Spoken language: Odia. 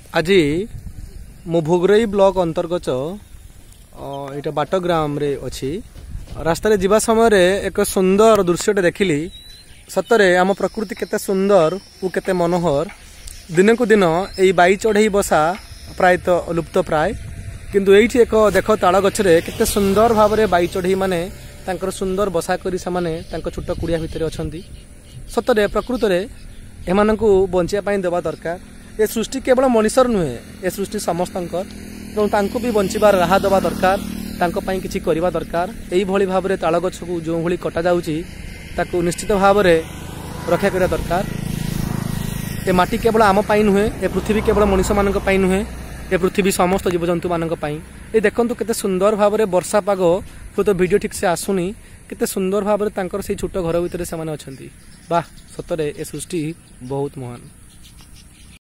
ଆଜି ମୁଁ ଭୋଗରାଇ ବ୍ଲକ ଅନ୍ତର୍ଗତ ଏଇଟା ବାଟଗ୍ରାମରେ ଅଛି। ରାସ୍ତାରେ ଯିବା ସମୟରେ ଏକ ସୁନ୍ଦର ଦୃଶ୍ୟଟେ ଦେଖିଲି। ସତରେ ଆମ ପ୍ରକୃତି କେତେ ସୁନ୍ଦର ଓ କେତେ ମନୋହର। ଦିନକୁ ଦିନ ଏଇ ବାଇ ଚଢ଼େଇ ବସା ପ୍ରାୟତଃ ଲୁପ୍ତ ପ୍ରାୟ, କିନ୍ତୁ ଏଇଠି ଏକ ଦେଖ ତାଳ ଗଛରେ କେତେ ସୁନ୍ଦର ଭାବରେ ବାଇ ଚଢ଼େଇ ମାନେ ତାଙ୍କର ସୁନ୍ଦର ବସା କରି ସେମାନେ ତାଙ୍କ ଛୋଟ କୁଡ଼ିଆ ଭିତରେ ଅଛନ୍ତି। ସତରେ ପ୍ରକୃତରେ ଏମାନଙ୍କୁ ବଞ୍ଚିବା ପାଇଁ ଦେବା ଦରକାର। ଏ ସୃଷ୍ଟି କେବଳ ମଣିଷର ନୁହେଁ, ଏ ସୃଷ୍ଟି ସମସ୍ତଙ୍କର। ତେଣୁ ତାଙ୍କୁ ବି ବଞ୍ଚିବାର ରାହା ଦେବା ଦରକାର, ତାଙ୍କ ପାଇଁ କିଛି କରିବା ଦରକାର। ଏଇଭଳି ଭାବରେ ତାଳ ଗଛକୁ ଯେଉଁଭଳି କଟାଯାଉଛି ତାକୁ ନିଶ୍ଚିତ ଭାବରେ ରକ୍ଷା କରିବା ଦରକାର। ଏ ମାଟି କେବଳ ଆମ ପାଇଁ ନୁହେଁ, ଏ ପୃଥିବୀ କେବଳ ମଣିଷମାନଙ୍କ ପାଇଁ ନୁହେଁ, ଏ ପୃଥିବୀ ସମସ୍ତ ଜୀବଜନ୍ତୁମାନଙ୍କ ପାଇଁ। ଏ ଦେଖନ୍ତୁ କେତେ ସୁନ୍ଦର ଭାବରେ ବର୍ଷା ପାଗ, ହୁଏତ ଭିଡ଼ିଓ ଠିକ୍ସେ ଆସୁନି, କେତେ ସୁନ୍ଦର ଭାବରେ ତାଙ୍କର ସେଇ ଛୋଟ ଘର ଭିତରେ ସେମାନେ ଅଛନ୍ତି। ବାহ, ସତରେ ଏ ସୃଷ୍ଟି ବହୁତ ମହାନ।